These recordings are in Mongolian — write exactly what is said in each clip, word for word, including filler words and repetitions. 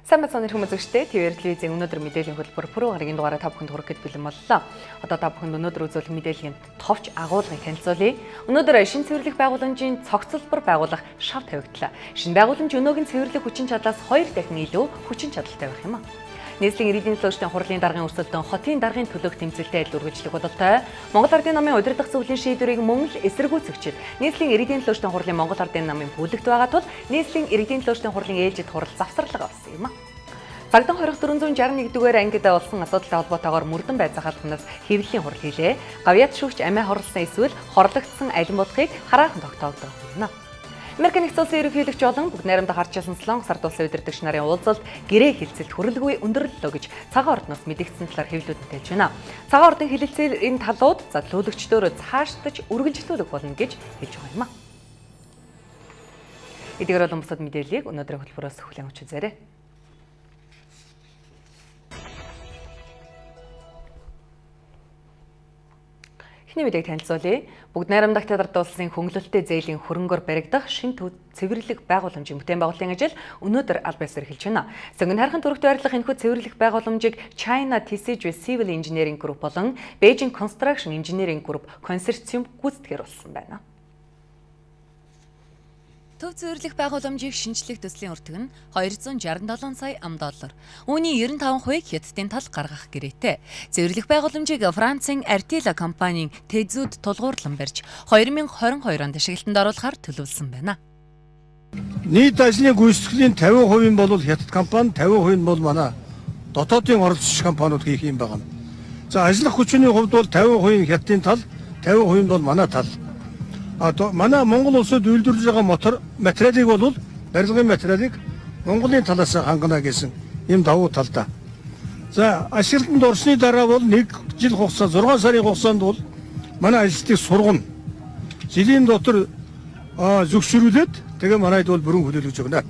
Сайн бацааны хүмүүс зөвштэй Т В телевизийн өнөөдөр мэдээллийн хөтөлбөр пүрэв гарагийн дугаараа та бүхэнд хүрэхэд бэлэн боллоо. Одоо та бүхэнд өнөөдөр үзүүлэх мэдээллийн товч агуулгыг танилцуулъя. Өнөөдөр шин цэвэрлэх байгууламжийн цогцлбор байгуулах шав тавигдлаа. Шинэ байгууламж өнөөгийн цэвэрлэх хүчин чадлаас хоёр дахин илүү хүчин чадалтай байх юм а. Нийслэлийн иргэдийн төлөвчдийн хурлын даргын өрсөлдөөн хотын даргын төлөөх тэмцэлтэй адил үргэлжлэх бололтой. Монгол Ардын намын удирдах зөвлөлийн шийдвэрийг мөн л эсэргүүцэгчид нийслэлийн иргэдийн төлөвчдийн хурлын Монгол Ардын намын бүлэгт байгаа тул нийслэлийн иргэдийн төлөвчдийн хурлын ээлжид хурал завсарлага авсан юм а. Цагдаа хорих дөрвөн зуун шарсан нэгдүгээр ангид болсон асуудалтай холбоотойгоор мөрдөн байцаах албанаас хэвлэлийн хурал хийлээ. Гавьяат шүүгч амиа хорлсон эсвэл хорлогдсон алин бодохыг хараахан тогтоогдох юм. Америкийн нэгдсэн улсын ерөнхийлөгч болон бүгд найрамдах ардчилсан Солонгос ард улсын удирдагч нарын уулзалт гэрээ хилцэлт хүрэлгүй өндөрлөлөө гэж цагаан ордноос мэдэгдсэн талаар хэвлэлүүд хэлж байна. Цагаан ордын хэлэлцээрийн талууд задлуулагчдөө цаашдаж үргэлжлүүлэх болно гэж хэлж байгаа юм а. Эдгээр болон бусад мэдээллийг өнөөдрийн хөтөлбөрөөс хүлээн авч үзээрэй. Эхний мэдээг танилцуулъя. Бүгд найрамдагт ард улсын хөнгөлөлттэй зээлийн хөрөнгөөр баригдах шин цэвэрлэх байгууламжийн бүтээн байгуулалтын ажил өнөөдөр аль биесээр эхэлж байна. Сонгон хайрхан төрөгтэй байрлах энэхүү цэвэрлэх байгууламжийг China T C G Civil Engineering Group болон Beijing Construction Engineering Group консорциум гүйцэтгэхээр болсон байна. Төв цэвэрлэх байгууламжийг шинжлэх төслийн өртөг нь хоёр зуун шарсан долоо сая ам доллар. Үүний девяносто таван хувийг хятадын тал гаргах гэрээтэй. Цэвэрлэх байгууламжийг Францын Артила компанийн Тэзүүд тулгуурлан барьж хоёр мың хорин хоёр онд ашиглалтанд оруулахаар төлөвлөсөн байна. Нийт ажлын гүйцэтгэлийн тавин хувийн бол хятад компани, тавин хувийн бол манай дотоодын оролцогч компаниуд хийх юм байна. За ажиллах хүчний хувьд бол тавин хувийн хятадын тал, тавин хувийн бол манай тал. А манай Монгол улсад үйлдвэрлэж байгаа мотор материалыг бол барилгын материалыг Монголын талаас хангана гэсэн юм давуу талтай. За ашиглалтанд орсны дараа бол нэг жил хугацаа зургаан сарын хугацаанд бол манай ажилтныг сургана. Жилийн дотор зөвшөөрүүлээд тэгээ манайд бол бүрэн хүлээлгэж өгнө.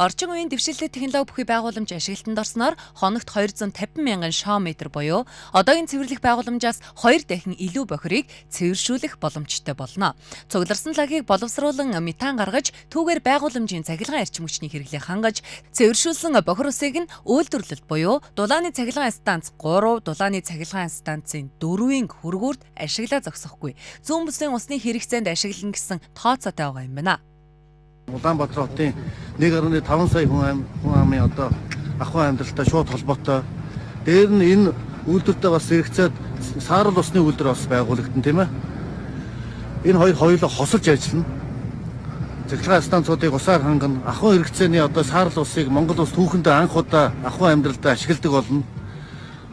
Орчин үеийн дэвшилтэй технологи бүхий байгууламж ашиглалтанд орсноор хоногт хоёр зуун тавин мянган шометр буюу одоогийн цэвэрлэх байгууламжаас хоёр дахин илүү бохирыг цэвэршүүлэх боломжтой болно. Цугларсан лагийг боловсруулан метан гаргаж түүгээр байгууламжийн цахилгаан эрчим хүчний хэрэглээ хангаж цэвэршүүлсэн бохир усыг нь үйлдвэрлэлд буюу дулааны цахилгаан станц гурав, дулааны цахилгаан станцын дөрвийн хөргүүрт ашиглаа зогсохгүй. Зүүн бүсийн усны хэрэгцээнд ашиглана гэсэн тооцоотой байгаа юм байна. Улаанбаатар хотын нэг гаруй таван сая хүн амын одоо ахуйн амьдралтай шууд холбоотой. Дээр нь энэ үйлдвэртэй бас хэрэгцээд саарл усны үйлдвэр бас байгуулагдсан тийм ээ. Энэ хоёр хоёулаа хосолж ажиллана. Цахилгаан станцуудыг усаар хангана. Ахуйн хэрэгцээний одоо саарл усыг Монгол улс түүхэндээ анх удаа ахуйн амьдралдаа ашигладаг болно.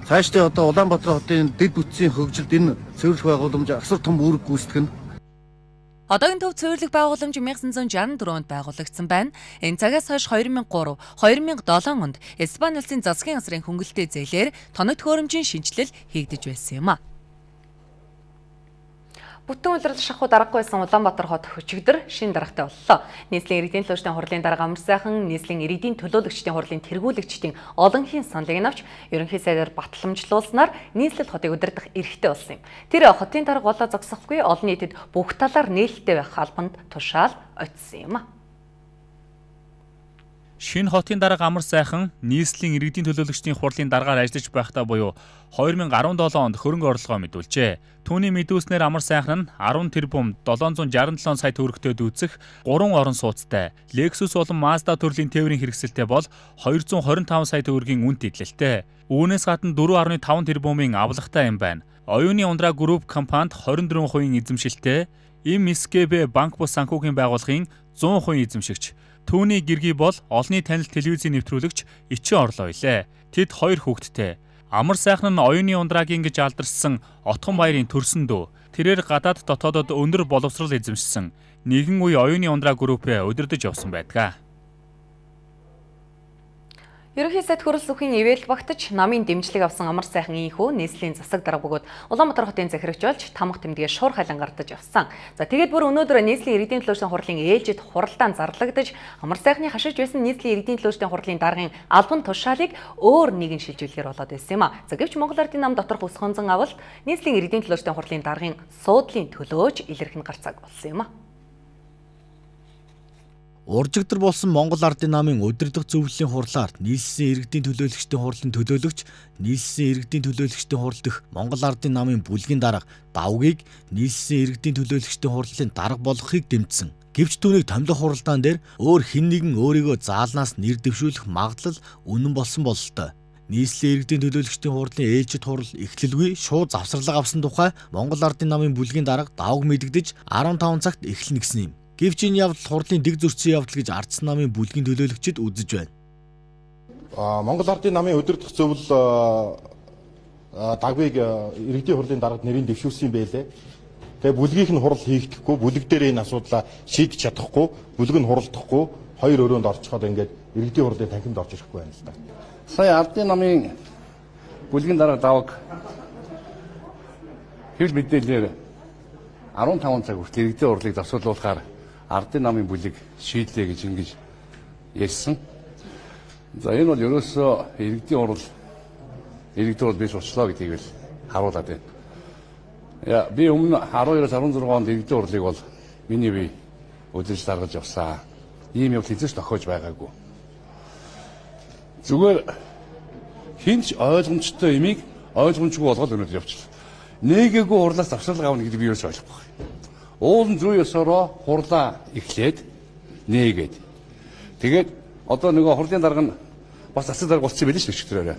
Цаашдаа одоо Улаанбаатар хотын дэд бүтцийн хөгжилд энэ цэвэрлэх байгууламж асар том үүрэг гүйцэтгэнэ. Одоогийн төв цэвэрлэх байгууламж нэг мянган зам шарсан дөрвөнд байгуулагдсан байна. Энэ цагаас хойш хоёр мың гурав, хоёр мың долоо онд Испани улсын засгийн газрын хөнгөлөлттэй зээлээр тоног төхөөрөмжийн шинжилэл хийгдэж байсан юм а. Бүтэн улирал шахуу дараагүй байсан Улаанбаатар хот өчигдөр шинэ даргатай боллоо. Нийслэлийн иргэдийн төлөвчдийн хурлын дарга Амар сайхан нийслэлийн иргэдийн төлөөлөгчдийн хурлын тэргүүлэгчдийн олонхын саналыг авч ерөнхий сайдаар батламжлуулснаар нийслэл хотыг удирдах эрхтэй болсон юм. Тэр хотын дарга болоо зогсохгүй олон нийтэд бүх талаар нээлттэй байх албанд тушаал очсон юм а. Шинэ хотын дарга Амар сайхан нийслэлийн иргэдийн төлөөлөгчдийн хурлын даргаар ажиллаж байхдаа буюу хоёр мың арван долоо онд хөрөнгө оруулалгоо мэдүүлжээ. Түүний мэдүүлснээр Амар сайхан нь арван тэрбум долоон зуун шарсан долоо сая төгрөгтэй дүүцэх гурван орон сууцтай Lexus болон Mazda төрлийн тээврийн хэрэгсэлтэй бол хоёр зуун хорин таван сая төгрөгийн үнэт идэлтэй. Үүнээс гадна дөрвөн дашик таван тэрбумын авлагатай юм байна. Оюуны ундраа групп компанид хорин дөрвөн хувийн эзэмшилтэй, эм эс гэ бэ банк бус санхүүгийн байгууллагын зуун хувийн эзэмшигч. Түүний гэргий бол олонний танил телевизийн нэвтрүүлэгч Ичин Орлоо илээ. Тэд хоёр хүүхэдтэй. Амар сайхан нь оюуны ундрагийн гэж алдарсан Отхон баярын төрсөн дүү. Тэрээр гадаад дотоодод өндөр боловсрол эзэмшсэн. Нэгэн үе оюуны ундраа группээ удирдах явсан байдаг. Ерөнхий сайд хөрөл сүхийн ивэл багтаж намын дэмжлэг авсан Амар сайхан ийхүү нийслэлийн засаг дарга бөгөөд Улаанбаатар хотын захирагч болж тамга тэмдгээ шуур хайлан гардаж явсан. За тэгээд бүр өнөөдөр нийслэлийн иргэдийн төлөөлөгчдийн хурлын ээлжид хуралдаан зарлагдаж Амар сайхны хашиж байсан нийслэлийн иргэдийн төлөөлөгчдийн хурлын даргын албан тушаалыг өөр нэгэн шилжүүлэхээр болоод байсан юм а. За гэвч Монгол Ардын нам доторх ус хонзон авалт нийслэлийн иргэдийн төлөөлөгчдийн хурлын даргын суудлын төлөөж илэрхэн гарцааг болсон юм а. Уржигдар болсон Монгол Ардын намын удирдах зөвлөлийн хурлаар нийслэлийн иргэдийн төлөөлөгчдийн хурлын төлөөлөгч, нийслэлийн иргэдийн төлөөлөгчдийн хурал дэх Монгол Ардын намын бүлгийн дарга давгийг нийслэлийн иргэдийн төлөөлөгчдийн хурлын дарга болгохыг дэмжсэн. Гэвч түүнийг томилох хуралдаан дээр өөр хэн нэгэн өөрийгөө заалнаас нэр дэвшүүлэх магадлал үнэн болсон бололтой. Нийслэлийн иргэдийн төлөөлөгчдийн хурлын ээлжид хурал эхлэлгүй шууд завсарлага авсан тухай Монгол Ардын намын бүлгийн дарга давг мэдэгдэж арван таван цагт эхлэнэ гэсэн юм. Гэвч энэ явдал хурлын дэг зөрчсөн явдал гэж Ардсан намын бүлгийн төлөөлөгчид үзэж байна. А Монгол Ардын намын удирдах зөвлөл дагвыг иргэдийн хурлын даргад нэрийн дэвшүүлсэн юм байлээ. Тэгээ бүлгийнх нь хурал хийгдэхгүй, бүлэг дээр энэ асуудлаа шийдэж чадахгүй, бүлэг нь хуралдахгүй, хоёр өрөөнд орчиход ингээд иргэдийн хурлын танхимд орж ирэхгүй байна л да. Сая Ардын намын бүлгийн дарга давг хэвлэл мэдээлэлээр арван таван цаг хүртэл иргэдийн хурлыг засварлуулахаар Ардын намын бүлэг шийдлээ гэж ингэж ярьсан. За энэ бол ерөөсөө иргэдийн хурал иргэдийн хурал биш болчлоо гэдгийг л харуулад байна. Яа би өмнө арван хоёроос арван зургаан онд иргэдийн хурлыг бол миний бие удирж даргаж явсан. Ийм явдал хэзээ ч тохиож байгаагүй. Зүгээр хинч ойлгомжтой имийг ойлгомжгүй болгоод өнөдр явчихлаа. Нээгээгүй хурлаас завсарлага авна гэдэг би ерөөс ойлгохгүй. Уулын зүй ёсороо хурлаа эхлээд нээгээд. Тэгээд одоо нөгөө хурлын дарга нь бас засаг дарга болчихсон байл шүү дээ чигтрээрээ.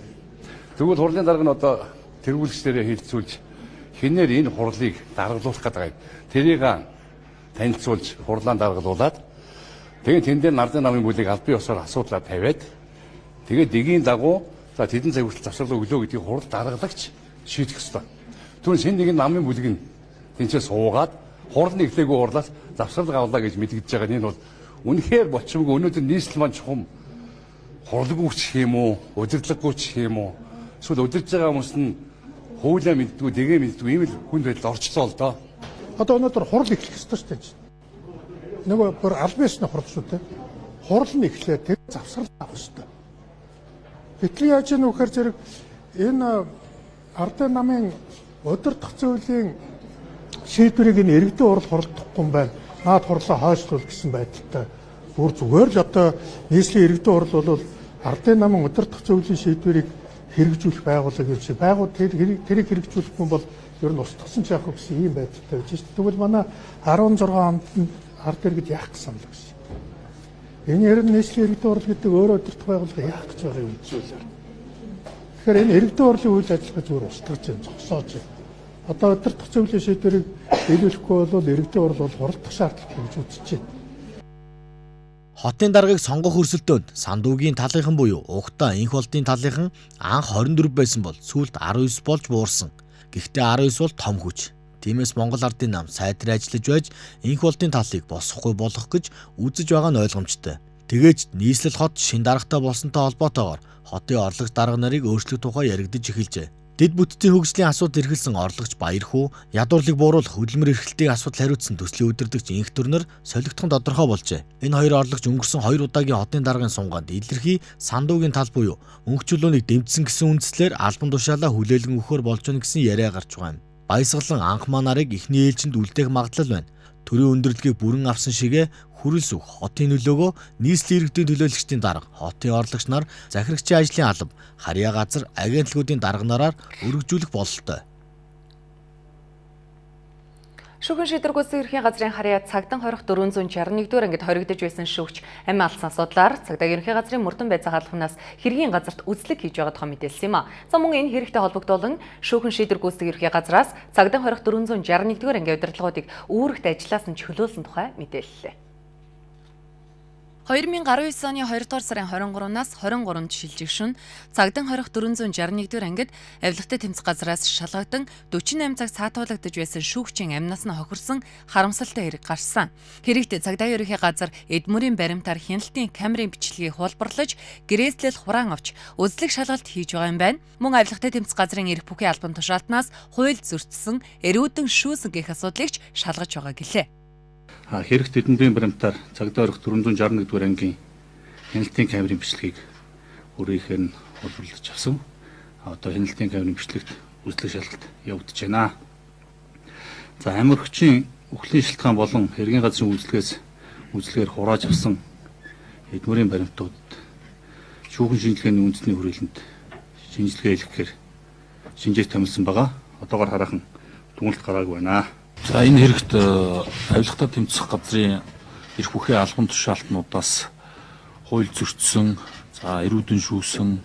Тэгвэл хурлын дарга нь одоо тэргүүлэгчдэрээ хилцүүлж хинээр энэ хурлыг даргалуулах гэдэг. Тэрийг танилцуулж хурлаан даргалуулад тэгээд тэн дээр Ардын намын бүлийг албан ёсоор асуудлаа тавиад тэгээд дэгийн дагуу за тэдэн цаг хүртэл завсарлага өглөө гэдгийг хурал даргалагч шийдэх ёстой. Түүнээс энэ нэг намын бүлэг нь тэнцээ суугаад хурлын эхлээгүй хурлаас завсарлага авлаа гэж мэдэгдэж байгаа. Энэ бол үнэхээр болчмгүй өнөөдөр нийслэл маань чухам хурлгүй ч юм уу, удирдлаггүй ч юм уу. Эсвэл удирж байгаа хүмүүс нь хуулиа мэддгүй, дэгээ мэддгүй ийм л хүнд байдал орчлоо л доо. Одоо өнөөдөр хурал эхлэх ёстой шүү дээ. Нөгөө бүр албан ёсны хурал шүү дээ. Хурал нь эхлээд тэр завсарлага авах ёстой. Гэтэл яаж ийм вөхөр зэрэг энэ Ардын намын удирдах зөвлөлийн шийдвэрийг энэ иргэдийн хурал хуралдахгүй юм байна. Наад хурлаа хойшлуул гэсэн байдалтай. Бүр зүгээр л одоо нийслэлийн иргэдийн хурал бол Ардын намын удирдах зөвлөлийн шийдвэрийг хэрэгжүүлэх байгууллага гэж байгуул тэр тэрийг хэрэгжүүлэх хүн бол ер нь устгасан ч яах вэ гэсэн ийм байдалтай байж шүү дээ. Тэгвэл манай арван зургаан онд ард иргэд яах гэсэн юм л гэсэн. Энэ ер нь нийслэлийн иргэдийн хурал гэдэг өөрөө удирдах байгууллага яах гэж байгаа юм зүйлээр. Тэгэхээр энэ иргэдийн хурлын үйл ажиллагаа зүгээр устгаж байна, зогсоож байна. Одоо удирдах зөвлөлийн шийдвэрийг биелүүлэхгүй бол иргэдийн хурал бол хуралдах шаардлагатай гэж үзэж байна. Хотын даргаыг сонгох өрсөлдөөнд Сандуугийн талынхан буюу Угтаа инх болдын талынхан анх хорин дөрөв байсан бол сүүлд арван девять болж буурсан. Гэхдээ арван девять бол том хүч. Тиймээс Монгол Ардын нам сайдрын ажиллаж байж инх болдын талыг босохгүй болгох гэж үзэж байгаа нь ойлгомжтой. Тэгээж нийслэл хот шин даргатай болсонтой холбоотойгоор хотын орлогч дарга нарыг өөрчлөх тухай яригдж эхэлжээ. Дэд бүтцийн хөгжлийн асуудал эрхэлсэн орлогч Баярхүү, ядуурлыг бууруулах хөдөлмөр эрхлэлтийн асуудал хариуцсан төслийн удирдагч инх төрнөр солигдохын тодорхой болжээ. Энэ хоёр орлогч өнгөрсөн хоёр удаагийн хотын даргын сунгаанд илэрхий Сандуугийн тал буюу мөнх чулуунийг дэмжсэн гэсэн үндслээр албан тушаалаа хүлээлгэн өгөхөр болж байна гэсэн яриа гарч байгаа юм. Баясгалан анх маа нарыг эхний ээлжинд үлдээх магадлал байна. Төрийн өндөрлөгийг бүрэн авсан шигэ хүрэлс үг хотын нөлөөгөө нийслэлийн иргэдийн төлөөлөгчдийн дарга, хотын орлогч нар, захирагчийн ажлын алба, харьяа газар, агентлагуудын дарга нараар өргөжүүлэх бололтой. Шүүхэн шийдвэр гүйцэтгэх ерөнхий газрын харьяа цагдаа хорих дөрвөн зуун шарна нэгдүгээр ангид хоригдож байсан шүүгч амь алдсан асуудлаар цагдаа ерөнхий газрын мөрдөн байцаах албанаас хэргийн газарт үзлэг хийж байгаа тухай мэдээлсэн юм а. За мөн энэ хэрэгтэй холбогдуулан шүүхэн шийдвэр гүйцэтгэх ерөнхий газраас цагдаа хорих дөрвөн зуун шарна нэгдүгээр ангийн удирдлагуудыг үүрэгт ажиллаас нь чөлөөлсөн тухай мэдээллээ. хоёр мянга арван девять оны хоёрдугаар сарын хорин гуравнаас хорин гуравнд шилжих шөнө цагдаа хорих дөрвөн зуун шарна нэгдүгээр ангид авилгатай тэмцэх газраас шалгагдан дөрвөн восемь цаг саатуулагдж байсан шүүгчийн амнаас нь хохирсон харамсалтай хэрэг гарсан. Хэрэгт цагдаа ерөнхий газар эдмүрийн баримтаар хяналтын камерын бичлэгийг хуулбарлаж гэрээслэл хураан авч үзлэг шалгалт хийж байгаа юм байна. Мөн авилгатай тэмцэх газрын эрх бүхий албан тушаалтнаас хууль зөрчсөн эрүүдэн шүүсэн гэх асуудлыг шалгаж байгаа гэлээ. Хэрэгт эдмүрийн баримтаар цагдаа хорих дөрвөн зуун шарна нэгдүгээр ангийн хяналтын камерын бичлэгийг өөрийнхөө нь хуулбарлаж авсан. Одоо хяналтын камерын бичлэгт үзлэг шалгалт явагдаж байна. За амирагчийн үхлийн шалтгаан болон хэргийн газрын үйлчлэгээс үйлчлэгээр хурааж авсан эдмөрийн баримтууд шүүхэн шинжилгээний үндэсний хүрээлэнд шинжилгээ хийхээр шинжээс томилсон байгаа. Одоогоор хараахан дүгнэлт гараагүй байна. За энэ хэрэгт авилгатай тэмцэх газрын эрх бүхий албан тушаалтнуудаас хууль зөрчсөн, за эрүүдэн шүүсэн,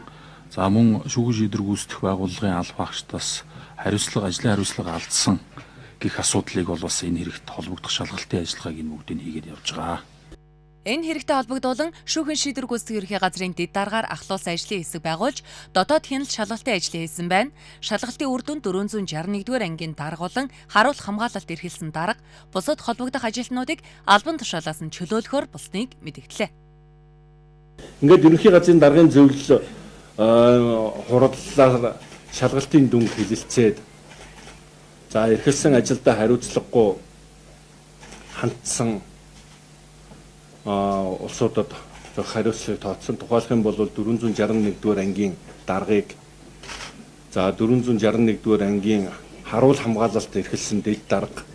за мөн шүүгэн шийдвэр гүйцэтгэх байгууллагын алба агчдаас хариуцлага, ажлын хариуцлага алдсан гэх асуудлыг бол бас энэ хэрэгт холбогдох шалгалтын ажиллагааг энэ бүгдийг хийгээд явж байгаа. Энэ хэрэгтэй холбогдуулан шүүхэн шийдвэр гүйцэтгэх ерхий газрын дэд даргаар ахлуулсан ажлын хэсэг байгуулж дотоод хяналт шалгалтын ажлыг хийсэн байна. Шалгалтын үр дүнд дөрвөн зуун шарх нэгдүгээр ангийн даргуулан харуулах хамгаалалт эрхэлсэн дарга бусад холбогдох ажилтнуудыг албан тушаалаас нь чөлөөлөхөөр болсныг мэдгдлээ. Ингээд ерөнхий газрын даргын зөвлөл хурлаар шалгалтын дүнг хэлэлцээд за эрхэлсэн ажилдаа хариуцлагагүй хандсан улсуудад хариуцлагыг тооцсон. Тухайлх юм бол дөрвөн зуун шарх нэгдүгээр ангийн даргыг за дөрвөн зуун шарх нэгдүгээр ангийн харуул хамгаалалт эрхэлсэн дэд дарга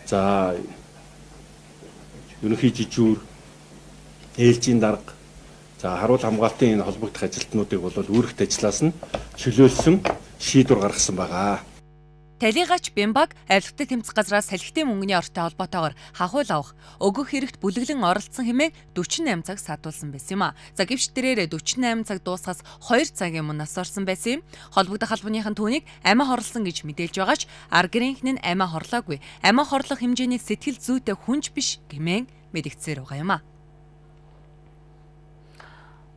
за ерөнхий жижүүр ээлжийн дарга за харуул хамгаалтын энэ холбогдох ажилтнуудыг бол үүрэгт ажиллаас нь чөлөөлсөн шийдвэр гаргасан байгаа. Талигач Бямбаг авилгатай тэмцэх газраас салхитын мөнгөний ортой холбоотойгоор хахуул авах, өгөх хэрэгт бүлэглэн оролцсон хэмээн дөрвөн восемь цаг садуулсан байсан юм а. За гэвч тэрээр дөрвөн восемь цаг дуусахаас хоёр цагийн өмнө нас орсон байсан юм. Холбогдох албаныхан түүнийг амиа хорлсон гэж мэдээлж байгаач аргирийнх нь амиа хорлоогүй. Амиа хорлох хэмжээний сэтгэл зүйтэй хүнч биш гэмээн мэдгдсээр байгаа юм а.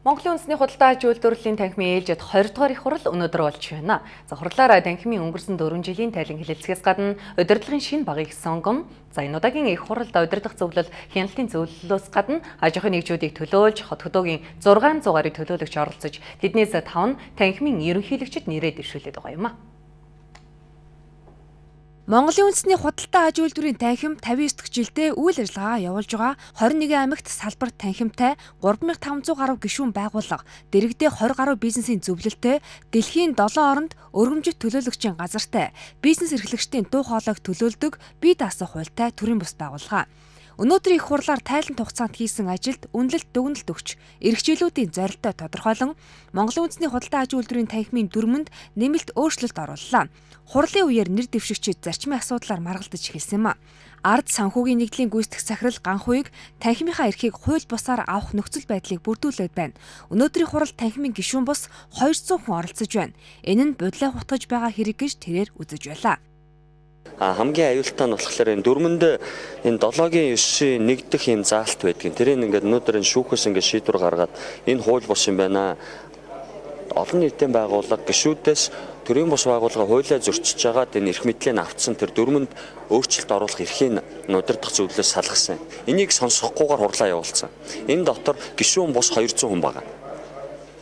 Монголын үндэсний худалдаа аж үйлдвэрлэлийн танхимын ээлжид хоёр дахь их хурал өнөөдөр болж байна. За хурлаараа танхимын өнгөрсөн дөрвөн жилийн тайлан хэлэлцгээс гадна удирдлагын шинэ багийг сонгон, за энэ удаагийн их хуралд удирдах зөвлөл хяналтын зөвлөлөөс гадна аж ахуйн нэгжүүдийг төлөөлж хот хөдөөгийн зургаан зуун гарыг төлөөлөгч оролцож тэднээс таван танхимын ерөнхийлөгчд нэрээ дэвшүүлээд байгаа юм а. Монголын үндэсний худалдаа аж үйлдвэрийн танхим тавин девять дахь жилдээ үйл ажиллагаа явуулж байгаа. хорин нэгэн аймагт салбар танхимтай гурван мянган таван зуун гаруй гишүүн байгууллага, дэргэдээ двадцать гаруй бизнесийн зөвлөлтөй, дэлхийн долоон оронд өргөмжит төлөөлөгчийн газартай, бизнес эрхлэгчдийн дуу хоолойг төлөөлдөг бие даасан хуультай төрийн бус байгууллага. Өнөөдөр их хурлаар тайлант хугацаанд хийсэн ажилд үнэлэлт дүгнэлт өгч, эрхчлүүлүүдийн зорилтоо тодорхойлон Монголын үндэсний худалдаа аж үйлдвэрийн танхимын дүрмэнд нэмэлт өөрчлөлт орууллаа. Хурлын үеэр нэр дэвшигчид зарчмын асуудлаар маргалдаж эхэлсэн юм а. Ард санхүүгийн нэгдлийн гүйцэтгэх захирал Ганхуйг танхимынхаа эрхийг хууль бусаар авах нөхцөл байдлыг бүрдүүлээд байна. Өнөөдрийн хуралд танхимын гишүүн бус хоёр зуун хүн оролцож байна. Энэ нь бодлоо хутгаж байгаа хэрэг гэж тэрээр үзэж байлаа. А хамгийн аюултай нь болохоор энэ дөрмөнд энэ долоогийн ёсшийн нэгдэх юм заалт байдгийн. Тэрийг ингээд өнөөдөр энэ шүүхээс ингээд шийдвэр гаргаад энэ хууль бус юм байна. Олон нийтийн байгууллага гишүүдээс төрийн бус байгууллага хуулиа зөрчиж байгаад энэ эрх мэдлийг авцсан тэр дөрмөнд өөрчлөлт оруулах эрхийг удирдах зөвлөлөөс салгасан. Энийг сонсохгүйгээр хурлаа явуулсан. Энэ дотор гишүүн бус хоёр зуун хүн байгаа.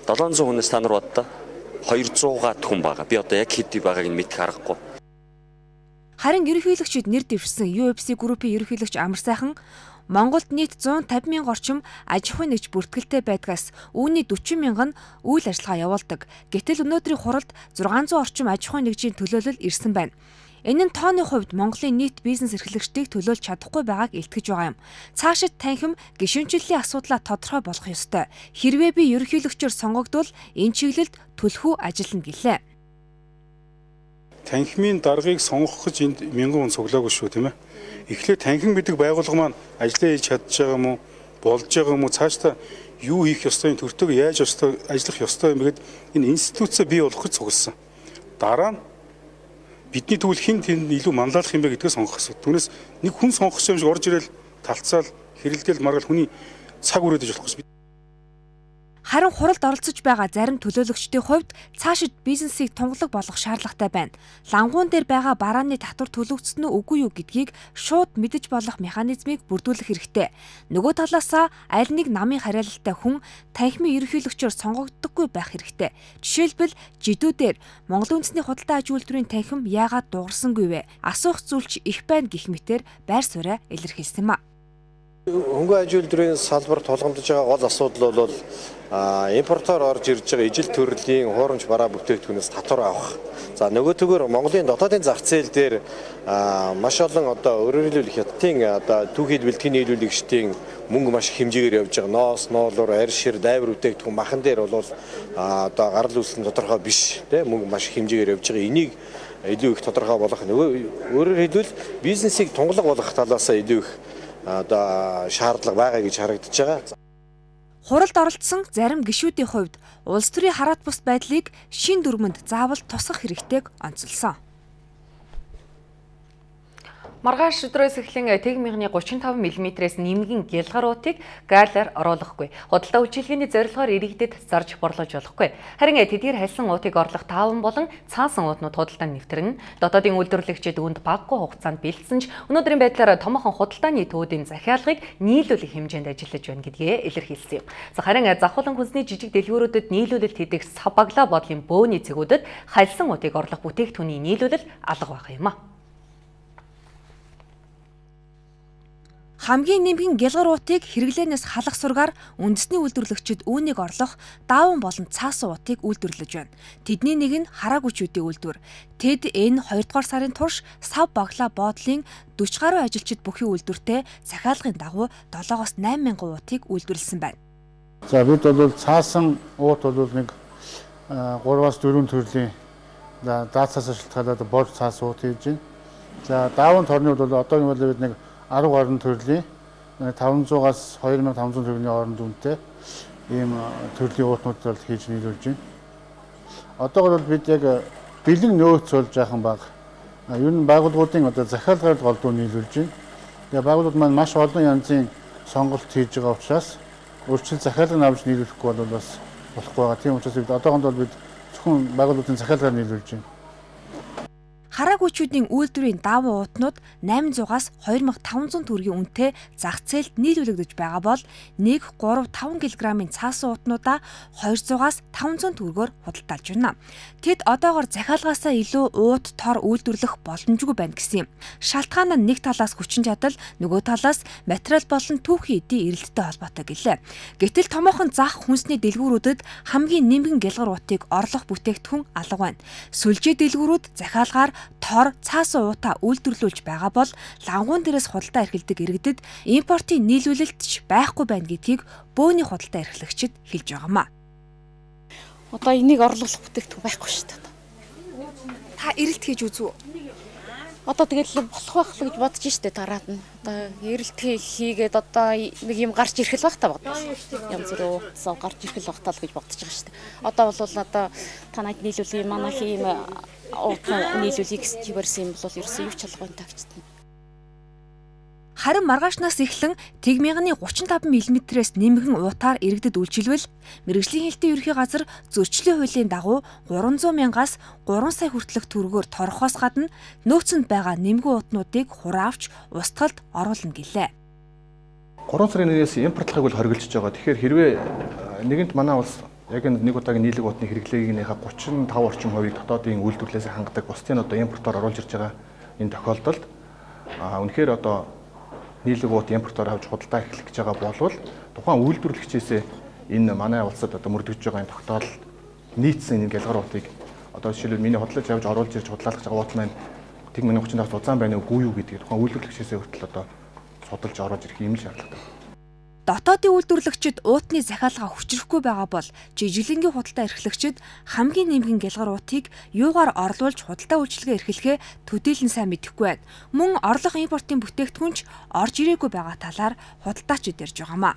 долоон зуун хүнээс та нар боддоо хоёр зуун хүн байгаа. Би одоо яг хэд байгааг нь мэдэх аргагүй. Харин ерөнхийлөгчид нэр дэвшсэн ю эф си группийн ерөнхийлөгч Амар сайхан Монголд нийт зуун тавин мянган орчим аж ахуйн нэгж бүртгэлтэй байдгаас үүний дөрвөн мянган нь үйл ажиллагаа явуулдаг. Гэтэл өнөөдрийн хуралд зургаан зуун орчим аж ахуйн нэгжийн төлөөлөл ирсэн байна. Энэ нь тооны хувьд Монголын нийт бизнес эрхлэгчдийг төлөөлж чадахгүй байгааг илтгэж байгаа юм. Цаашид танхим гишүүнчлэлийн асуудлаа тодорхой болгох ёстой. Хэрвээ би ерөнхийлөгчөөр сонгогдвол энэ чиглэлд түлхүү ажиллана гэлээ. Танхимын даргаыг сонгох гэж энд мянган хүн цуглаагүй шүү, тийм ээ. Эхлээд танхим гэдэг байгууллага маань ажиллаа хийж чадж байгаа юм уу, болж байгаа юм уу, цаашдаа юу хийх ёстой, төртөг яаж ёстой, ажиллах ёстой юм гээд энэ институцаа бий болгох гэж цугласан. Дараа нь бидний тэгвэл хэн тэнд илүү манлайлах юм бэ гэдгээ сонгох асуудал. Түүнээс нэг хүн сонгох юм шиг орж ирэл талцаал, хэрэлдээл маргал хүний цаг үрээдэж болох гэж. Харин хуралд оролцож байгаа зарим төлөөлөгчдийн хувьд цаашид бизнесийг тунгалаг болгох шаардлагатай байна. Лангуун дээр байгаа барааны татвар төлөгдсөн үү үгүй юу гэдгийг шууд мэдэж болох механизмыг бүрдүүлэх хэрэгтэй. Нөгөө талаасаа аль нэг намын хариалалтай хүн танхимын ерөнхийлөгчөөр сонгогддоггүй байх хэрэгтэй. Жишээлбэл жидүүдээр Монголын үндэсний худалдаа аж үйлдвэрийн танхим яагаад дуурсангүй вэ? Асуух зүйлч их байна гэх мэтээр байр сууриа илэрхийлсэн юм а. Хөнгөн аж үйлдвэрийн салбарт тулгамдж байгаа гол асуудал бол импортоор орж ирж байгаа ижил төрлийн хуурамч бараа бүтээгдэхүүнээс татвар авах. За нөгөөтэйгөр Монголын дотоодын зах зээл дээр маш олон одоо өөрөөр хэлбэл хятадын одоо түүхийд бэлтгэн нийлүүлэгчдийн мөнгө маш их хэмжээгээр явж байгаа. Ноос, ноолуур, арь шир, дайвар бүтээгдэхүүн махан дээр бол одоо гарал үүсэлэн тодорхой биш тийм мөнгө маш их хэмжээгээр явж байгаа. Энийг илүү их тодорхой болгох нөгөө өөрөөр хэлбэл бизнесийг тунгалаг болгох талаас илүү их одоо шаардлага байгаа гэж харагдаж байгаа. Хуралд оролцсон зарим гишүүдийн хувьд улс төрийн хараат бус байдлыг шин дүрмэнд заавал тусгах хэрэгтэйг онцолсон. Маргааш өдрөөс эхлэн тэг мягны гучин таван миллиметрээс нэмгэн гялгаруутыг гаалаар оруулахгүй. Худалдаа үйлчилгээний зорилгоор иргэдэд зарж борлуулж болохгүй. Харин тэдгээр хальсан уутыг орлох тааван болон цаасан уутнууд худалдаанд нэвтэрнэ. Дотоодын үйлдвэрлэгчид үүнд баггүй хугацаанд бэлдсэн ч өнөөдрийн байдлаар томоохон худалдааны төвүүдийн захиалгыг нийлүүлэх хэмжээнд ажиллаж байна гэдгээ илэрхийлсэн юм. За харин завхуулан хүнсний жижиг дэлгүүрүүдэд нийлүүлэлт хийдэг сав баглаа бодлын бөөний цэгүүдэд хальсан уутыг орлох бүтээгдэхүүний нийлүүлэл алга байх юм а. Хамгийн нэмгэн гялгаруутыг хэрэглээнээс халах сургаар үндэсний үйлдвэрлэгчид үүнийг орлох дааван болон цаасан уутыг үйлдвэрлэж байна. Тэдний нэг нь хараагүйчүүдийн үйлдвэр. Тэд энэ хоёрдугаар сарын турш сав баглаа боодлын дөрвөн гаруй ажилчид бүхий үйлдвэртэй захиалгын дагуу долоогоос найман мянган уутыг үйлдвэрлэсэн байна. За бид бол цаасан уут бол нэг гураваас дөрвөн төрлийн даацаас шалтгаалаад бор цаас уут хийж байна. За дааван торны бол одоо нэг бол бид нэг арав гаруй төрлийн таван зугаас хоёр мянган таван зуун төгрөгийн хооронд үнэтэй ийм төрлийн уутнууд хийж нийлүүлж байна. Одоогор бол бид яг бэлэн нөөц болж яахан баг. Ер нь байгууллагуудын одоо захиалгаар голдуу нийлүүлж байна. Тэгээ байгууллагууд маань маш олон янзын сонголт хийж байгаа учраас өөрчлөлт захиалгыг авч нийлүүлэхгүй бол бас болохгүй байгаа. Тийм учраас бид одоохонд бол бид зөвхөн байгууллагуудын захиалгаар нийлүүлж байна. Хараагүйчүүдийн үйлдвэрийн дааван уутнууд найман зугаас хоёр мянган таван зуун төгрөгийн үнэтэй зах зээлд нийлүүлэгдэж байгаа бол нэг гурав таван килограммын цаасан уутнуудаа хоёр зугаас таван зуун төгрөгөөр худалдаалж байна. Тэд одоогоор захиалгаасаа илүү уут тор үйлдвэрлэх боломжгүй байна гэсэн юм. Шалтгаан нь нэг талаас хүчин чадал, нөгөө талаас материал болон түүхийн эдийн эрэлттэй холбоотой гэлээ. Гэтэл томоохон зах хүнсний дэлгүүрүүдэд хамгийн нэмгэн гялгаруутыг орлох бүтээгдэхүүн алга байна. Сүлжээ дэлгүүрүүд захиалгаар тор цаасан уутаа үйлдвэрлүүлж байгаа бол лангуун дээрээс худалдаа эрхэлдэг иргэдэд импортын нийлүүлэлт ч байхгүй байна гэдгийг бөөний худалдаа эрхлэгчид хэлж байгаамаа. Одоо энийг орлуулах бүтээгдэхүүн байхгүй шүү дээ. Та эрэлт хийж үзв үү? Одоо тэгэл болох байх л гэж бодож штэ тараад нь. Одоо эрэлт хийгээд одоо нэг юм гарч ирэх л байх та бодож. Янз бүр сав гарч ирэх л байх тал гэж бодож байгаа штэ. Одоо бол одоо танайд нийлүүл юм манай хийм уутаа нийлүүлэх чивэрсэн юм бол ерөөсөө юу ч алгын тагчтана. Харин маргаашнаас эхлэн тэг мягны гучин таван миллиметрээс нэмгэн уутаар иргэдэд үйлчилвэл мэргэжлийн хэлтийн ерхий газар зөрчлийн хуулийн дагуу гурван зуун мянгаас гурван сая хүртэлх төгрөгөөр торохоос гадна нөөцөнд байгаа нэмгэн уутнуудыг хураавч устгалд оруулна гэлээ. гурван сарын нэрээс импортлохыг бол хоригдож байгаа. Тэгэхээр хэрвээ нэгэнт манай улс яг энэ нэг удаагийн нийлэг уутны хэрэглээгийнхээ гучин тав орчим хувийг дотоодын үйлдвэрлэлээс хангадаг бусдын одоо импортоор оруулж ирж байгаа энэ тохиолдолд а үнэхээр одоо нийлэг уут импортоор авч худалдаа эхлэх гэж байгаа болвол тухайн үйлдвэрлэгчээс энэ манай улсад одоо мөрдөгж байгаа энэ тогтоолд нийцсэн энэ гялгаруутыг одоо жишээлбэл миний худалдаж авч оруулж ирж худлаалгах байгаа уут маань тэг миний гучин тавс уцаан байна уу юу гэдгийг тухайн үйлдвэрлэгчээс хүртэл одоо судалж оруулж ирэх юм л шаардлагатай. Дотоодын үйлдвэрлэгчид уутны захиалгаа хүчрэхгүй байгаа бол жижиглэнгийн худалдаа эрхлэгчид хамгийн нэмгэн гялгаруутыг юугаар орлуулж худалдаа үйлчилгээ эрхлэхээ төдийлөн сайн мэдэхгүй байна. Мөн орлох импортын бүтээгдэхүүн ч орж ирээгүй байгаа талаар худалдаачид ярьж байгаамаа.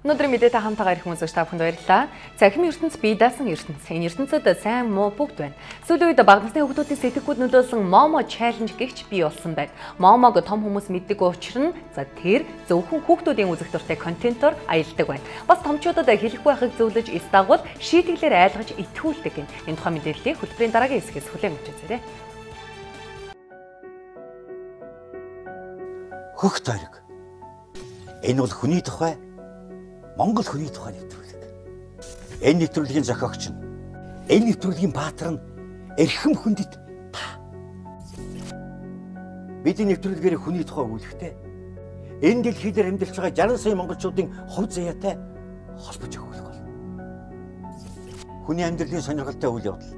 Өнөөдрийн мэдээтэй хамтаагаар ирэх хүмүүст та бүхэнд баярлалаа. Цахим ертөнц бие даасан ертөнц. Энэ ертөнцид сайн муу бүгд байна. Сүүлийн үед бага насны хүүхдүүдийн сэтгэхүйд нөлөөлсөн Момо чаленж гэгч бий болсон байна. Момог том хүмүүс мэддэг учир нь за тэр зөвхөн хүүхдүүдийн үзэх дуртай контентоор аялдаг байна. Бас томчуудад хэлэхгүй байхыг зөвлөж эс дагвал шийтгэлээр айлгаж итгүүлдэг гин. Энэ тухай мэдээллийг хөтөлбөрийн дараагийн хэсгээс хүлээн авч үзээрэй. Хөх тойрог. Энэ бол хүний тухай Монгол хүний тухай нэвтрүүлэг. Энэ нэвтрүүлгийн зохиогч нь энэ нэвтрүүлгийн баатар нь эрхэм хүндэт та. бидний нэвтрүүлгээр хүний тухай өгүүлэхтэй энэ дэлхий дээр амьдарч байгаа жаргал сая монголчуудын хувь заяатай холбож өгөх бол. Хүний амьдралын сонирхолтой үйл явдал,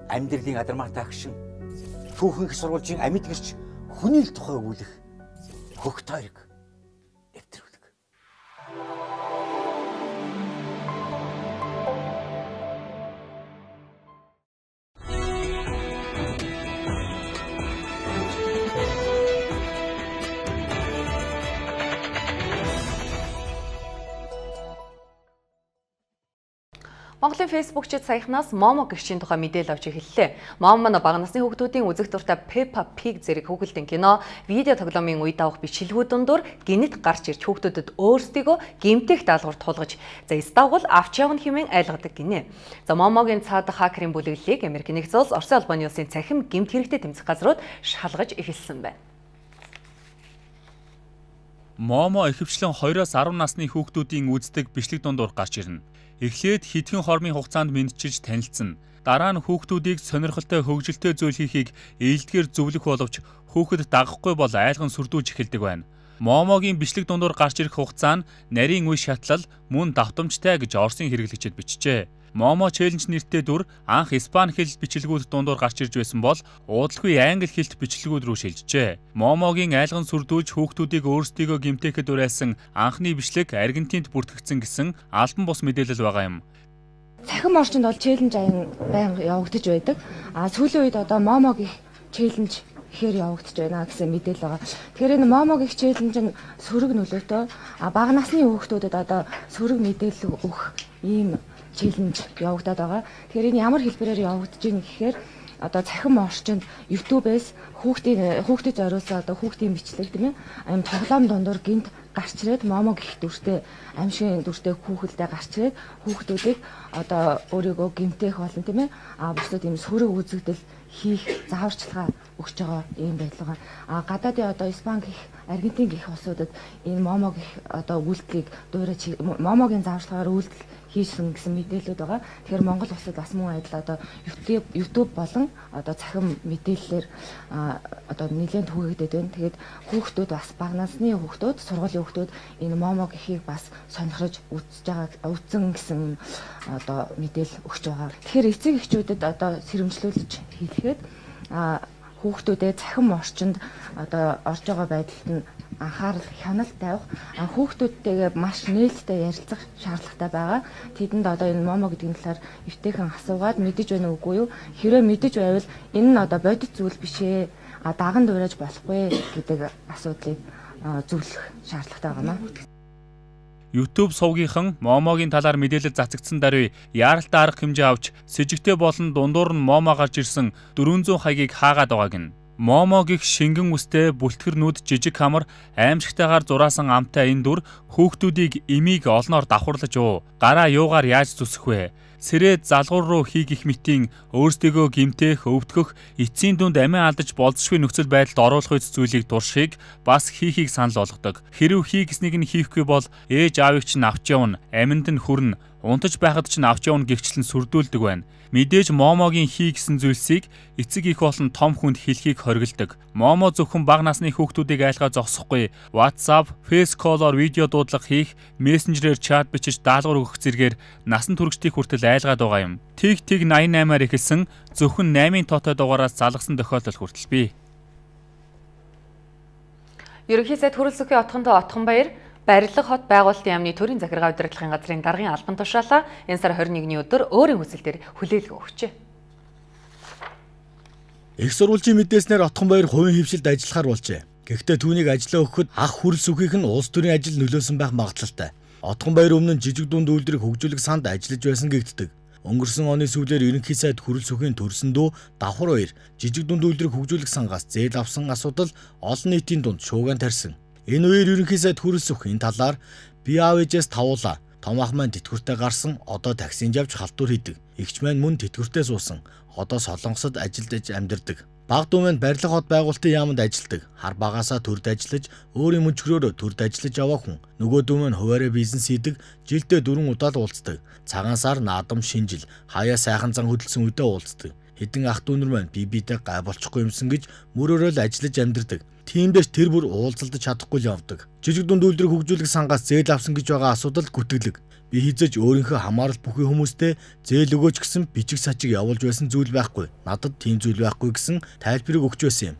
амьдралын адармаатай агшин, түүхэн их сурвалжийн амьд гэрч хүний л тухай өгүүлэх хөх тойрог нэвтрүүлэг. Монголын фейсбુકчид саяхнаас Момо гэгчийн тухай мэдээлэл авч эхэллээ. Момо манай бага насны хүүхдүүдийн үзэх дуртай Peppa Pig зэрэг хүүхэлдэйн кино, видео тоглоомын үед авах бичлэгүүд дундуур гинэт гарч ирж хүүхдүүдэд өөрсдийгөө гэмтэх даалгавар туулгаж, за эсдагвал авч явна хэмээн айлгадаг гинэ. За Момогийн цаадах хакерын бүлэглэлийг Америк нэгдсэн улс, Оросын албаны улсын цахим гэмт хэрэгтэй тэмцэх газрууд шалгаж эхэлсэн байна. Момо ихэвчлэн хоёроос арван насны хүүхдүүдийн үздэг бичлэг дундуур гарч ирнэ. Эхлээд хэдхэн хормын хугацаанд мэдчилж танилцсан. Дараа нь хүүхдүүдийг сонирхолтой хөгжилтэй зүйл хийхийг ээлдгээр зөвлөх боловч хүүхэд дагахгүй бол айлган сүрдүүлж эхэлдэг байна. Момогийн бичлэг дундуур гарч ирэх хугацаа нь нарийн үе шатлал мөн давтамжтай гэж Оросын хэрэглэгчид бичжээ. Момо челленж нэртэй дүр анх Испани хэл бичлэгүүд дундуур гарч ирж байсан бол уудалгүй англи хэлт бичлэгүүд рүү шилжжээ. Момогийн айлган сүрдүүлж хүүхдүүдийг өөрсдийгөө гэмтээхэд уриалсан анхны бичлэг Аргентинд бүртгэгдсэн гэсэн албан бус мэдээлэл байгаа юм. Цахим орчинд бол челленж аян байнга явагдаж байдаг. А сүүлийн үед одоо Момогийн челленж ихээр явагдаж байна гэсэн мэдээлэл байгаа. Тэгэхээр энэ Момогийн челленж нь сөрөг нөлөөтэй. А бага насны хүүхдүүдэд одоо сөрөг мэдээлэл өгөх ийм челленж явагдаад байгаа. Тэгэхээр энэ ямар хэлбэрээр явагдаж байна гэхээр одоо цахим орчинд YouTube-ээс хүүхдийн хүүхдэд зориулсан одоо хүүхдийн бичлэг тийм ээ аим тоглоом дундуур гинт гарч ирээд Момо гих дүртэй аимшигын дүртэй хүүхэлдээ гарч ирээд хүүхдүүдийг одоо өөрийгөө гимтэх болон тийм ээ а бусдад ийм сөрөг үзэгдэл хийх зааварчилгаа өгч байгаа юм байдлага. А гадаадын одоо Испани гих Аргентин гих улсуудад энэ Момо гих одоо үйлдэлийг дуурайж Момогийн зааварчилгаагаар үйлдэл хийсэн гэсэн мэдээлэлүүд байгаа. Тэгэхээр Монгол улсад бас мөн адил одоо YouTube YouTube болон одоо цахим мэдээллээр одоо нэлээд түгээгдээд байна. Тэгээд хүүхдүүд бас бага насны хүүхдүүд, сургуулийн хүүхдүүд энэ Момо гэхийг бас сонирхож үзэж байгаа үзэн гэсэн одоо мэдээлэл өгч байгаа. Тэгэхээр эцэг эхчүүдэд одоо сэрэмжлүүлж хэлэхэд хүүхдүүдэд цахим орчинд одоо орж байгаа байдалд нь анхаарал хяналт тавих, хүүхдүүдтэйгээ маш нээлттэй ярилцах шаардлагатай байгаа. Тэдэнд одоо энэ Момо гэдэг талаар эвтэйхэн асуугаад мэдэж байна уугүй юу? Хэрвээ мэдэж байвал энэ нь одоо бодит зүйл биш ээ. А даган дуурайж болохгүй гэдэг асуудлыг зөвлөх шаардлагатай байна. YouTube сувгийнхан Момогийн талаар мэдээлэл цацагдсан даруй яаралтай арга хэмжээ авч сэжигтэй болон дундуур нь Момо гарч ирсэн дөрвөн зуун хаягийг хаагаад байгааг нь. Момо гих шингэн үстэй бүлтгэр нүд жижиг хамар аимшигтайгаар зураасан амтай энэ дүр хүүхдүүдийг эмийг олноор давхарлаж уу. Гараа юугаар яаж зүсэх вэ? Сэрээд залгуур руу хийгих мэтийн өөрсдийгөө гимтэх, өвдгөх, эцсийн дүнд амиа алдаж болзошгүй нөхцөл байдалд оруулах үс зүйлийг дуршихыг бас хийхийг санал болгодог. Хэрв хий гэснийг нь хийхгүй бол ээж аавыг чинь авч явна, аминд нь хүрнэ, унтаж байхад чинь авч явна гэгчлэн сүрдүүлдэг байна. Мэдээж Момогийн хий гэсэн зүйлсийг эцэг их болон том хүнд хэлхийг хориглодог. Момо зөвхөн бага насны хүүхдүүдийг айлгаа зогсохгүй. WhatsApp, FaceCall-оор видео дуудлага хийх, Messenger-ээр чат бичиж даалгавар өгөх зэргээр насан туршдыг хүртэл айлгаад байгаа юм. Тэг тэг восемьдесят восемь-аар эхэлсэн зөвхөн восемь тоотой дугаараас залгасан тохиолдол хүртэл бий. Ерөнхий сайд Хүрэлцэхийн отгондоо Отгонбаяр Барилга хот байгуулалтын яамны төрийн захиргаа удирдлагын газрын даргын албан тушаалаа энэ сарын двадцать первний өдөр өөрийн хүсэлтээр хүлээлгээ өгчээ. Их сурвалжийн мэдээснээр Отгонбаяр хувийн хвшилд ажиллахаар болжээ. Гэхдээ түүнийг ажиллаа өгөхөд ах хүрэл сүхийх нь улс төрийн ажил нөлөөсөн байх магадлалтай. Отгонбаяр өмнө нь жижиг дунд үйлдвэрийг хөгжүүлэх санд ажиллаж байсан гэгддэг. Өнгөрсөн оны сүүлээр ерөнхий сайд Хүрэл сүхийн төрсөн дүү давхар баяр жижиг дунд үйлдвэрийг хөгжүүлэх сангаас зээл авсан асуудал олон нийтийн дунд шуугиан тарьсан. Энэ үеэр ерөнхий сайд Хүрэл сүх энэ талаар би аав ээжээс тавуулаа. Том ах маань тэтгэвртэй гарсан, одоо таксинд явж халтур хийдэг. Эгч маань мөн тэтгэвртэй суусан. Одоо Солонгосод ажилдж амьдардаг. Баг дүү маань барилга хот байгуулалтын яамд ажилдаг. Хар багаасаа төрд ажиллаж, өөрийн мөнчгөрөөрөө төрд ажиллаж яваа хүн. Нөгөө дүү маань хуваараа бизнес хийдэг, жилдээ дөрвөн удаа л уулздаг. Цагаан сар, наадам, шинжил, хаяа сайхан зан хөдөлсөн үедээ уулздаг. Хэдэн ах дүүнэр маань бие биедээ гай болчихгүй юмсан гэж мөрөөрөө л ажиллаж амьдардаг. Тиймдээс тэр бүр уулзалдаж чадахгүй л явдаг. Жижиг дунд үйлдвэрийг хөгжүүлэх сангаас зээл авсан гэж байгаа асуудал гүтгэлэг. Би хизэж өөрийнхөө хамаарал бүхий хүмүүстээ зээл өгөөч гэсэн бичиг сачиг явуулж байсан зүйл байхгүй. Надад тийм зүйл байхгүй гэсэн тайлбарыг өгч байсан юм.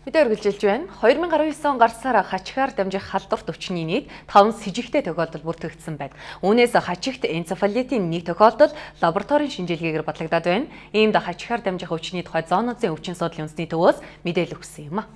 Мэдээ үргэлжилж байна. хоёр мянган араван девять он гарсаар хачигаар дамжих халдварт өвчний нийт таван с жигтэй тохиолдол бүртгэгдсэн байна. Үүнээс хачигт энцефалитийн нэг тохиолдол лабораторийн шинжилгээгээр батлагдаад байна. Иймд хачигаар дамжих өвчний тухай зоонуудын өвчин судлалын үндэсний төвөөс мэдээлэл өгсөн юм а.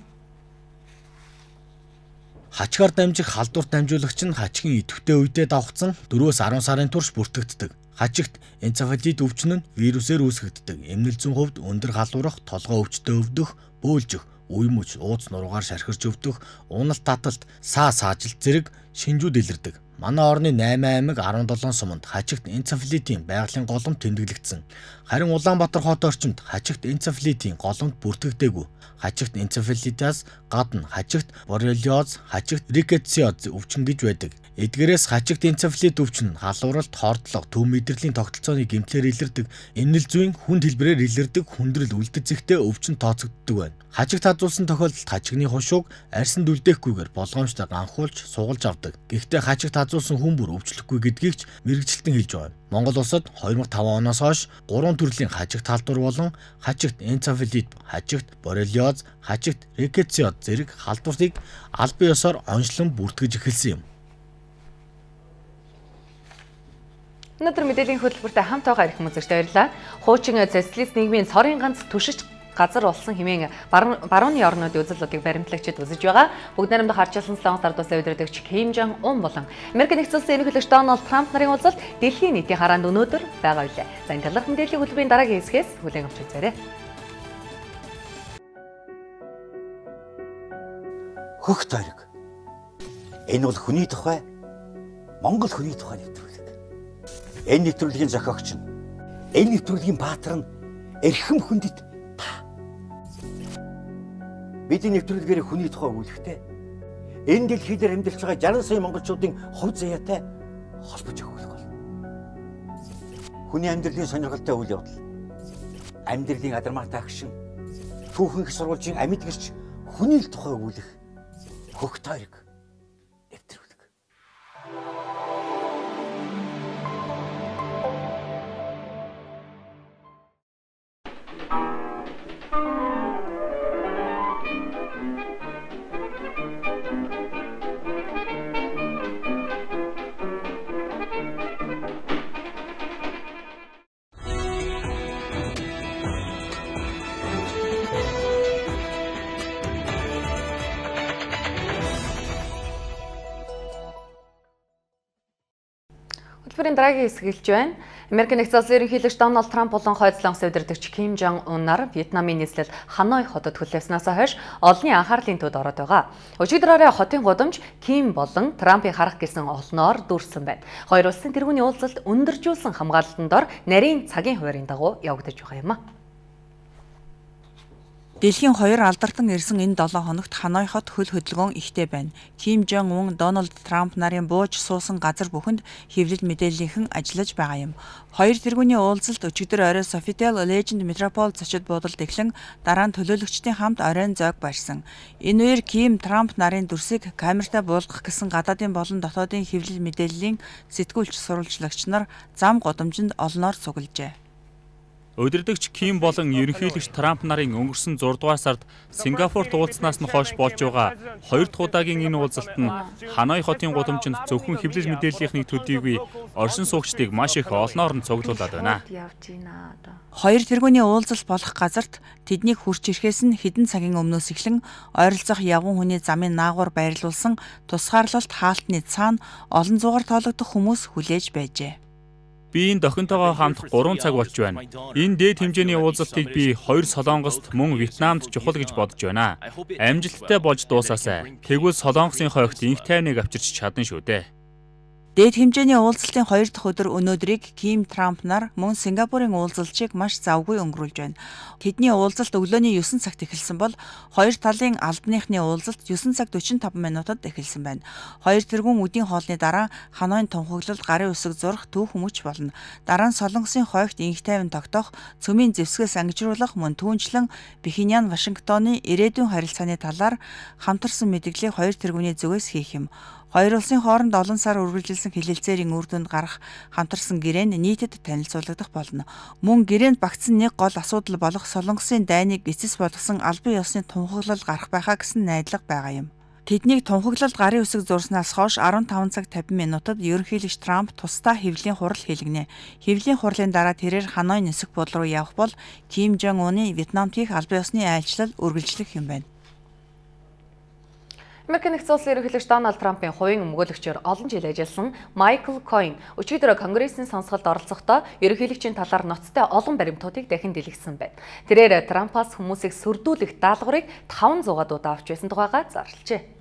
Хачигаар дамжих халдварт дамжуулагч нь хачигын идэвхтэй үедээ давхцсан дөрвөөс арван сарын турш бүртгэгддэг. Хачигт энцефалит өвчин нь вирусээр үүсгэгддэг. Эмнэлзэн хувьд өндөр халуурах, толгой өвчтөй өвдөх, бөөлжих, үе мөч, ууц нуруугаар шархирч өвдөх, уналт таталт, саа саажилт зэрэг шинжүүд илэрдэг. Манай орны найман аймаг арван долоон суманд хачигт энцефалитийн байгалийн голомт тэмдэглэгдсэн. Харин Улаанбаатар хот орчимд хачигт энцефалитийн голомт бүртгэгдээгүй. Хачигт энцефалитаас гадна хачигт боррелиоз, хачигт рикетсиоз өвчин гэж байдаг. Эдгээрээс хачигт энцефалит өвчин нь халууралт, хордлого, төв мэдрэлийн тогтолцооны гэмтлэр илэрдэг, эмнэл зүйн хүнд хэлбэрээр илэрдэг хүндрэл үлдэцэгтэй өвчин тооцогддог байна. Хачигт хадуулсан тохиолдолд хачигны хушууг арьсанд үлдээхгүйгээр болгоомжтой ганхуулж сугалж авдаг. Гэхдээ хачигт хадуулсан хүн бүр өвчлөхгүй гэдгийг ч мэрэгчлэн хэлж байна. Монгол улсад хоёр мянган таван оноос хойш гурван төрлийн хачигт халдвар болон хачигт энцефалит, хачигт боррелиоз, хачигт рикетсиоз зэрэг халдвартыг албан ёсоор онцлон бүртгэж эхэлсэн юм. Өнөөдөр мэдээллийн хөтөлбөртэй хамт байгаа ирэх хүмүүстට баярлалаа. Хуучин социалист нийгмийн цорын ганц түшиж газар болсон хэмээн барууны орнуудын үзэлдлүүдийг баримтлагчид үзэж байгаа. Бүгд найрамдах харчилсан Солонгос ардуусын удирдагч Ким Жон Ун болон Америк нэгдсэн улсын ерөнхийлөгч Дональд Трамп нарын уулзалт дэлхийн нийтийн хараанд өнөөдөр байгаа билээ. За энэ талаарх мэдээллийн хөтөлбөрийн дараагийн хэсгээс хүлээн авч үзээрэй. Хөх тойрог. Энэ бол хүний тухай, Монгол хүний тухай нэвтрүүлэг. Энэ нэвтрүүлгийн зохиогч нь, энэ нэвтрүүлгийн баатар нь эрхэм хүндэт та. Бидний нэвтрүүлгээр хүний тухай өгүүлэхдээ энэ дэлхий дээр амьдарч байгаа жарган сая монголчуудын хувь заяатай холбож өгөх бол. Хүний амьдралын сонирхолтой үйл явдал, амьдралын адармаатай агшин, түүхэн их сурвалжийн амьд гэрч хүний л тухай өгүүлэх хөх тойрог. Хөтөлбөрийн дараагийн хэсэг хэлж байна. Америк нэгдсэн улсын ерөнхийлөгч Дональд Трамп болон Хойд Солонгосын удирдагч Ким Жон Ун нар Вьетнамын нийслэл Ханой хотод хүлээснээс хойш олонний анхаарлын төвд ороод байгаа. Өчигдөр хотын гудамж Ким болон Трампыг харах гэсэн олноор дүүрсэн байна. Хоёр улсын тэргүүний уулзалт өндөржүүлсэн хамгаалалтын дор нарийн цагийн хуваарийн дагуу явагдаж байгаа юм а. Дэлхийн хоёр алдарсан ирсэн энэ долоо хоногт Ханой хот хөл хөдөлгөөн ихтэй байна. Ким Жон Ун, Дональд Трамп нарын бууж суусан газар бүхэнд хэвлэл мэдээллийнхэн ажиллаж байгаа юм. Хоёр тэргүүний уулзалт өчигдөр орой Sofitel Legend Metropole зочид буудалд эхлэн дараа нь төлөөлөгчдийн хамт оройн зоог барьсан. Энэ үеэр Ким Трамп нарын дүрсийг камертай буулгах гэсэн гадаадын болон дотоодын хэвлэл мэдээллийн сэтгүүлч сурвалжлагч нар зам гудамжинд олноор цуглажээ. Удирдагч Ким болон ерөнхийлөгч Трамп нарын өнгөрсөн зураг дугаар сард Сингапурт уулзснаас нь хойш болж байгаа хоёр дахь удаагийн энэ уулзалт нь Ханой хотын гудамжинд зөвхөн хэвлэл мэдээллийнхний төдийгүй оршин суугчдыг маш их олноор нь цуглуулад байна. Хоёр тэргүүний уулзалт болох газарт тэднийг хурч ирэхээс нь хэдэн цагийн өмнөөс эхлэн ойролцоох явган хүний замын наагур байрлуулсан тусгаарлалт хаалтны цаана олон зуугаар тоологдох хүмүүс хүлээж байжээ. Би энэ дохинтойгоо хамт гурван цаг болж байна. Энэ дээд хэмжээний уулзалтыг би хоёр Солонгост мөн Вьетнамд чухал гэж бодож байна. Амжилттай болж дуусаасай. Тэгвэл Солонгосын хойгт инх тайвныг авчирч чадна шүү дээ. Дээд хэмжээний уулзалтын хоёр дахь өдөр өнөөдрийг Ким Трамп нар мөн Сингапурын уулзалтыг маш завгүй өнгөрүүлж байна. Тэдний уулзалт өглөөний9 цагт эхэлсэн бол хоёр талын албаныхны уулзалт9 цаг дөрвөн таван минутад эхэлсэн байна. Хоёр тэргүүн үдийн хоолны дараа Ханоийн тунхаглалд гарын үсэг зурах түүх хүмүүж болно. Дараа нь Солонгосын хойгт инх тайван тогтоох, цөмийн зэвсгээс ангижруулах мөн түүнчлэн Пхеньян Вашингтоны ирээдүйн харилцааны талаар хамтарсан мэдээллийг хоёр тэргүүний зүгээс хийх юм. Хоёр улсын хооронд олон сар үргэлжилсэн хэлэлцээрийн үр дүнд гарах хамтарсан гэрээнд нийтэд танилцуулагдах болно. Мөн гэрээнд багтсан нэг гол асуудал болох Солонгосын дайныг эцэс болгосон албан ёсны тунхаглал гарах байхаа гэсэн найдлага байгаа юм. Тэднийг тунхаглалд гарын үсэг зурснаас хойш арван таван цаг тавин минутад ерөнхийлөгч Трамп тусдаа хэвлэлийн хурал хийлгэнэ. Хэвлэлийн хурлын дараа тэрээр Ханой нисэх бул руу явах бол Ким Жон Уны Вьетнамд хийх албан ёсны айлчлал үргэлжлэх юм байна. Америкийн нэгдсэн улсын ерөнхийлөгч Дональд Трампын хувийн өмгөөлөгчөөр олон жил ажилласан Майкл Койн өчигдөр Конгрессийн сонсголд оролцохдоо ерөнхийлөгчийн талаар ноцтой олон баримтуудыг дахин дэлгэсэн байна. Тэрээр Трампаас хүмүүсийг сүрдүүлэх даалгаврыг таван зугаар удаа авч байсан тухайга зарлжээ.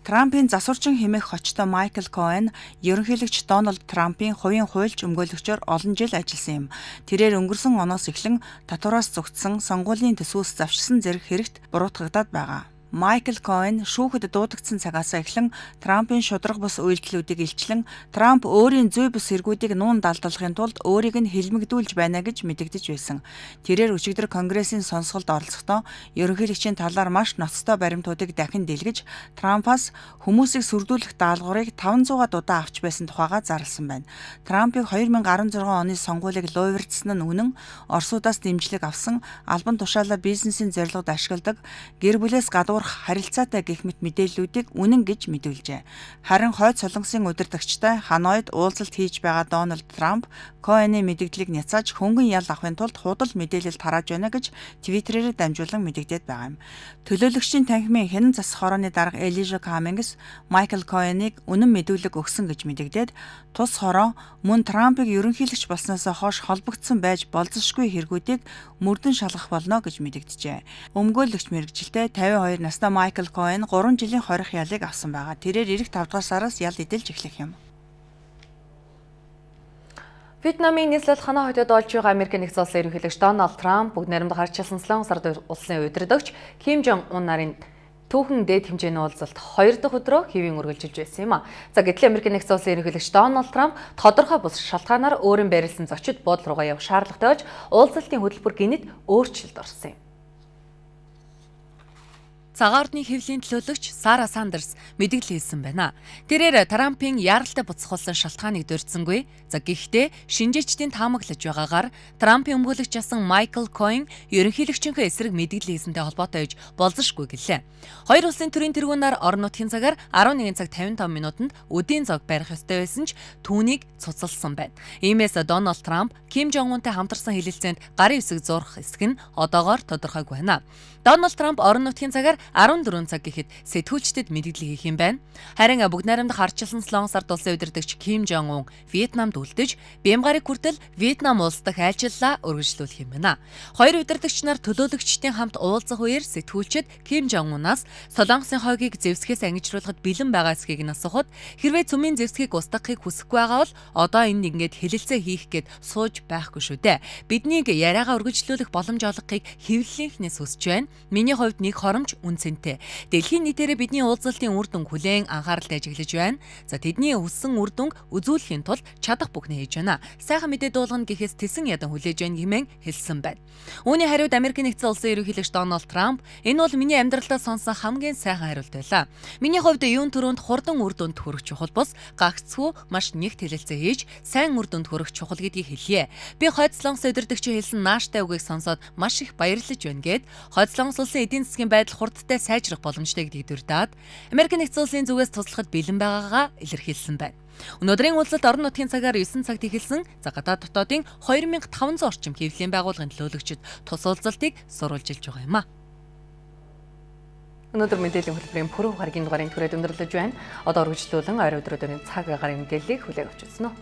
Трампын засварчин хэмээх хочтой Майкл Койн ерөнхийлөгч Дональд Трампын хувийн хуульч өмгөөлөгчөөр олон жил ажилласан юм. Тэрээр өнгөрсөн оноос эхлэн татвараас зугтсан сонгуулийн төсвөөс завшсан зэрэг хэрэгт буруутгагдаад байгаа. Майкл Койн шүүхэд дуудагдсан цагаас эхлэн Трампын шударга бус үйлдэлүүдийг илчлэн Трамп өөрийн зүй бус эргүүдийг нуун далдалахын тулд өөрийг нь хэлмэгдүүлж байна гэж мэдэгдэж байсан. Тэрээр өчигдөр Конгрессийн сонсголд оролцохдоо ерөнхийлөгчийн талаар маш ноцтой баримтуудыг дахин дэлгэж Трампаас хүмүүсийг сүрдүүлэх даалгаврыг таван зугаар удаа авч байсан тухайга зарласан байна. Трампыг хоёр мянга арван зургаан оны сонгуулийг луйвардсан нь үнэн, Оросуудаас дэмжлэг авсан, албан тушаалаа бизнесийн зорилгод ашигладаг, гэр бүлээс гадуур харилцаатай гэх мэт мэдээллүүдийг үнэн гэж мэдүүлжээ. Харин хойд Солонгосын удирдагчтай Ханоид уулзалт хийж байгаа Дональд Трамп Койны мэдээллийг няцааж хөнгөн ял авахын тулд худал мэдээлэл тарааж байна гэж Твиттерээр дамжуулан мэдэгдээд байгаа юм. Төлөөлөгчдийн танхимын хянан засах хорооны дарга Элижа Камингс Майкл Койныг үнэн мэдүүлэг өгсөн гэж мэдэгдээд тус хороо мөн Трампыг ерөнхийлөгч болсноос хойш холбогдсон байж болзошгүй хэрэгүүдийг мөрдөн шалгах болно гэж мэдэгджээ. Өмгөөлөгч мэргэжилтэй тавин хоёр настай Майкл Койн гурван жилийн хорих ялыг авсан байгаа. Тэрээр эх тавд дугаар сараас ял эдэлж эхлэх юм. Вьетнамын нийслэл ханаа хотод болж байгаа Америкийн нэгдсэн улсын ерөнхийлөгч Дональд Трамп бүгд найрамдах харьцуулсан Солонгос ард улсын удирдагч Ким Жон Ун нарын түүхэн дээд хэмжээний уулзалт хоёр дахь өдрөө хэвийн үргэлжилж байсан юм а. За гэтэл Америкийн нэгдсэн улсын ерөнхийлөгч Дональд Трамп тодорхой бус шалтгаанаар өөрийн байрласан зочид буудал руугаа явах шаардлагатай болж уулзалтын хөтөлбөр гинэд өөрчлөлт орсон юм. Цагаан ордны хэвлэлийн төлөөлөгч Сара Сандерс мэдээлэл хэлсэн байна. Тэрээр Трампын яаралтай буцхуулсан шалтгааныг дурдсангүй. За гэхдээ шинжээчдийн таамаглаж байгаагаар Трампын өмгөөлөгч асан Майкл Койн ерөнхийлөгчийнхээ эсрэг мэдээлэл хийсэнтэй холбоотой гэж болзошгүй гэлээ. Хоёр улсын төрийн тэргүүнээр орон нутгийн цагаар арван нэгэн цаг тавин таван минутанд үдийн зог барих ёстой байсан ч түүнийг цуцалсан байна. Иймээс Дональд Трамп Ким Жон Унтай хамтарсан хэлэлцээнд гарын үсэг зурах эсэх нь одоогоор тодорхойгүй байна. Дональд Трамп орон нутгийн цагаар арван дөрвөн цаг гэхэд сэтгүүлчдэд мэдээлэл хийх юм байна. Харин бүгд найрамдах харьцуулсан Солонгос ард улсын удирдагч Ким Жон Ун Вьетнамд үлдэж, Бямгарыг хүртэл Вьетнам улс дахь айлчлалаа үргэлжлүүлэх юм байна. Хоёр удирдагч нар төлөөлөгчдийн хамт уулзах үеэр сэтгүүлчид Ким Жон Унаас Солонгосын хойгийг зэвсгээс ангижруулахад бэлэн байгаа эсхийг нь асуухад хэрвээ цөмийн зэвсгийг устгахыг хүсэхгүй байгаа бол одоо энэ ингээд хэлэлцээ хийх гээд сууж байхгүй шүү дээ. Биднийг яриагаа үргэлжлүүлэх боломж олгохыг хэвлэлийнхнээс хүсэж байна. Миний хувьд нэг хоромж үнцэнтэй. Дэлхийн нийтээрээ бидний уулзалтын үр дүн хүлээн анхааралтай ажиглаж байна. За тэдний өссөн үр дүнг үзүүлэхийн тулд чадах бүхнээ хийж байна. Сайхан мэдээ дуулгана гэхээс тэсэн ядан хүлээж байна хэмээн хэлсэн байна. Үүний хариуд Америкийн нэгдсэн улсын ерөнхийлөгч Дональд Трамп энэ бол миний амьдралдаа сонсон хамгийн сайхан хариулт байлаа. Миний хувьд юун төрөнд хурдан үр дүнд хүрэх чухал бус гагцгүй маш нэгт хэлэлцээ хийж сайн үр дүнд хүрэх чухал гэдгийг хэлье. Би хойд Солонгос удирдагчийн хэлсэн нааштай үгийг сонсоод маш их баярлаж байна гэд хойд Солонгос улсын эдийн засгийн байдал хурдтай сайжрах боломжтой гэдгийг дурдаад Америкийн нэгдсэн улсын зүгээс туслахад бэлэн байгаагаа илэрхийлсэн байна. Өнөөдрийн уулзалт орон нутгийн цагаар девять цагт эхэлсэн. За гадаад дотоодын two thousand five hundred орчим хэвлэлийн байгууллагын төлөөлөгчид тус уулзалтыг сурвалжилж байгаа юм а. Өнөөдөр мэдээллийн хөтөлбөрийн пүрэв гарагийн дугаарыг түрээд өндөрлөж байна. Одоо үргэлжлүүлэн ойр өдрөдийн цаг агаарын мэдээллийг хүлээн авч үзсэн үү.